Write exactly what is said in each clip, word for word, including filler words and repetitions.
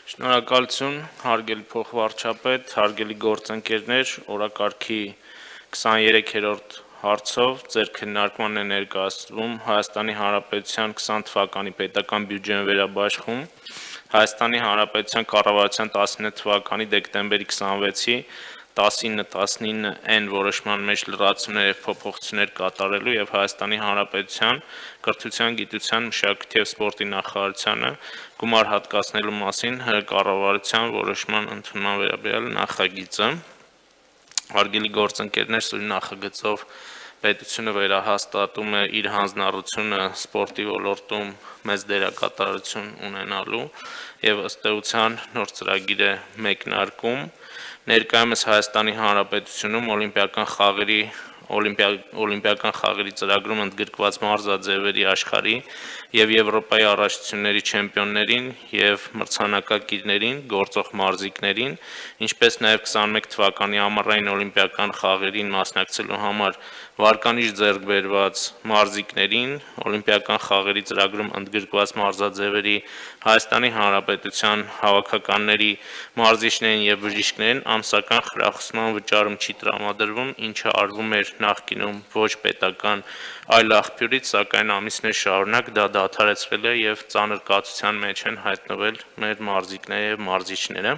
Շնորհակալություն, հարգելի փոխվարչապետ, հարգելի գործընկերներ, օրակարգի քսաներեքերորդ հարցով ձեր քննարկման է ներկայացվում Հայաստանի Հանրապետության քսան թվականի պետական բյուջեն վերաբաշխում, Հայաստանի Հանրապետության կառավարության տասնինը թվականի դեկտեմբերի քսանվեցի տասնինը տասնինը N որոշման մեջ լրացումներ և փոփոխություններ կատարելու և Հայաստանի Հանրապետության կրթության, գիտության, մշակույթի և սպորտի նախարարությանը գումար հատկացնելու մասին կառավարության որոշման ընդունման վերաբերյալ նախագիծը։ Հարգելի գործընկերներ, սույն նախագծով պետությունը վերահաստատում է իր հանձնառությունը սպորտի ոլորտում մեծ դերակատարություն ունենալու և ըստ էության նոր ծրագիր է մեկնարկում։ Ներկայումս Հայաստանի Հանրապետությունում օլիմպիական խաղերի օլիմպիական խաղերի ծրագրում ընդգրկված մարզաձևերի աշխարհի և Եվրոպայի առաջնությունների չեմպիոններին և մրցանակակիրներին, գործող մարզիկներին, ինչպես նաև քսանմեկ թվականի ամառային օլիմպիական խաղերին մասնակցելու համար վարկանիշ ձեռք բերված մարզիկներին, օլիմպիական խաղերի ծրագրում ընդգրկված մարզաձևերի Հայաստանի Հանրապետության հավաքականների, մարզիչներին և բժիշկներին ամսական խրախուսման վճարում չի տրամադրվում, ինչը արվում էր նախկինում ոչ պետական այլ աղբյուրից, սակայն ամիսներ շարունակ դա դադարեցվել է և ծանր կացության մեջ են հայտնվել մեր մարզիկները և մարզիչները։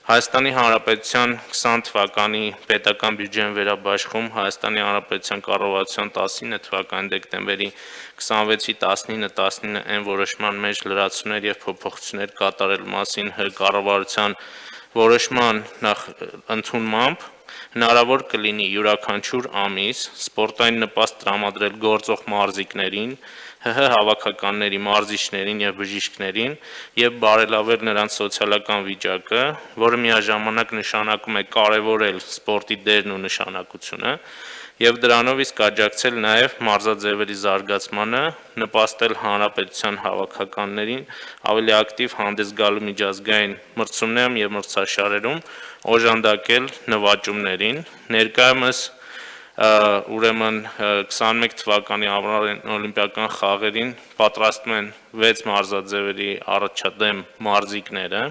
Հայաստանի Հանրապետության քսան թվականի պետական բյուջեն վերաբաշխում Հայաստանի Հանրապետության կառավարության տասնինը թվականի դեկտեմբերի քսանվեցի տասնինը տասնինը N որոշման մեջ լրացումներ և փոփոխություններ կատարելու մասին կառավարության որոշման ընդունմամբ հնարավոր կլինի յուրաքանչյուր ամիս սպորտային նպաստ տրամադրել գործող մարզիկներին, ՀՀ հավաքականների, մարզիչներին և բժիշկներին և բարելավել նրանց սոցիալական վիճակը, որը միաժամանակ նշանակում է կարևորել սպորտի դերն ու նշանակությունը և դրանով իսկ աջակցել նաև մարզաձևերի զարգացմանը, նպաստել հանրապետության հավաքականներին ավելի ակտիվ հանդես գալու միջազգային մրցումներում և մրցաշարերում, օժանդակել նվաճումներին։ Ներկայումս ուրեմն քսանմեկ թվականի ամառային օլիմպիական խաղերին պատրաստվում են վեց մարզաձևերի առաջադեմ մարզիկները։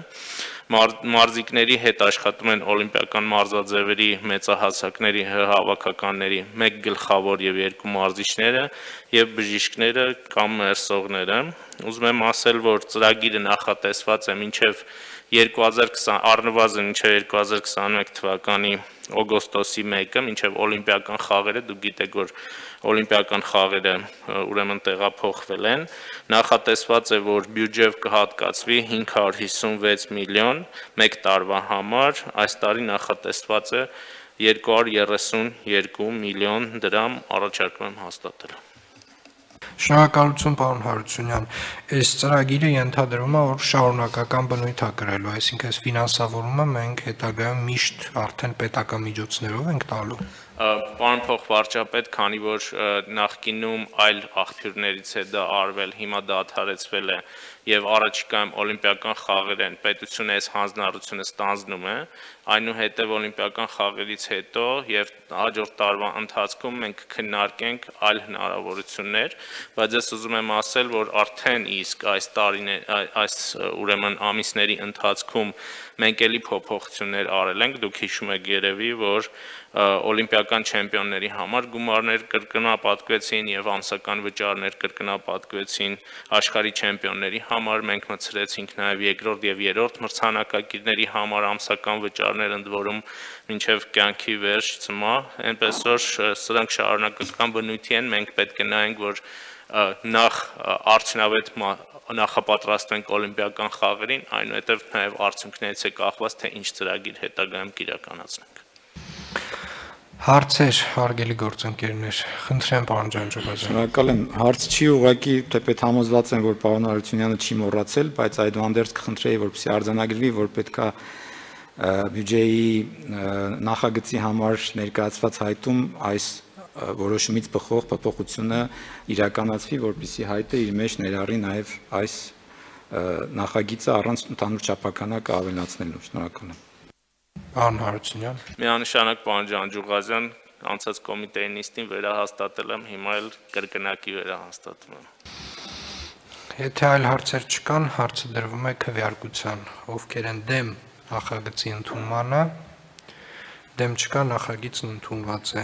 Մարզիկների հետ աշխատում են օլիմպիական մարզաձևերի մեծահասակների ՀՀ հավաքականների մեկ գլխավոր և երկու մարզիչները և բժիշկները կամ մերսողները։ Ուզում եմ ասել, որ ծրագիրը նախատեսված է մինչև առնվազն մինչև երկու հազար քսանմեկ թվականի օգոստոսի մեկը, մինչև օլիմպիական խաղերը, դուք գիտեք, որ օլիմպիական խաղերը ուրեմն տեղափոխվել են, նախատեսված է, որ բյուջեով կհատկացվի հինգ հարյուր հիսունվեց միլիոն մեկ տարվա համար, այս տարի նախատեսված է երկու հարյուր երեսունյոթ միլիոն դրամ, առաջարկում եմ հաստատել։ Շնորհակալություն, պարոն Հարությունյան։ Այս ծրագիրը ենթադրում է, որ շարունակական բնույթ է կրելու, այսինքն այս ֆինանսավորումը մենք հետագայում միշտ արդեն պետական միջոցներով ենք տալու։ Պարոն փոխվարչապետ, քանի որ նախկինում այլ աղբյուրներից է դա արվել, հիմա դադարեցվել է և առաջիկայում օլիմպիական խաղեր են, պետությունը այս հանձնառությունը ստանձնում է, այնուհետև օլիմպիական խաղերից հետո և հաջորդ տարվա ընթացքում մենք քննարկենք այլ հնարավորություններ, բայց ես ուզում եմ ասել, որ արդեն իսկ այս այս ուրեմն ամիսների ընթացքում մենք էլի փոփոխություններ արել ենք, դուք հիշում եք երևի, որ օլիմպիական չեմպիոնների համար գումարներ կրկնապատկվեցին և ամսական վճարներ կրկնապատկվեցին, աշխարհի չեմպիոնների համար մենք մտցրեցինք նաև երկրորդ և երրորդ մրցանակակիրների համար ամսական վճարներ, ընդ որում մինչև կյանքի վերջ ծմա, այնպես որ սրանք շարունակական բնույթի են, մենք պետք է նայենք, որ նախ արդյունավետ նախապատրաստվենք օլիմպիական խաղերին, այնուհետև նաև արդյունքներից է կախված, թե ինչ ծրագիր հետագայում կիրականացնենք։ Հարցեր, հարգելի գործընկերներ, խնդրեմ, պարոն Ջանջուղազյան։ Շնորհակալ եմ։ Հարց չի ուղղակի թեպետ համոզված եմ, որ պարոն Հարությունյանը չի մոռացել, բայց այդուհանդերձ կխնդրեի, որպեսզի արձանագրվի, որ պետքա բյուջեի նախագծի համար ներկայացված հայտում այս որոշումից բխող փոփոխությունը իրականացվի, որպեսզի հայտը իր մեջ ներառի նաև այս նախագիծը առանց ընդհանուր չափականակ ավելացնելու։ Շնորհակալ եմ։ Պարոն Հարությունյան։ Միանշանակ, պարոն Ջանջուղազյան, անցած կոմիտեի նիստին վերահաստատել եմ, հիմա էլ կրկնակի վերահաստատում եմ։ Եթե այլ հարցեր չկան, հարցը դրվում է քվեարկության։ Ովքեր են դեմ նախագծի ընդունմանը, դեմ չկա, նախագիծն ընդունված է։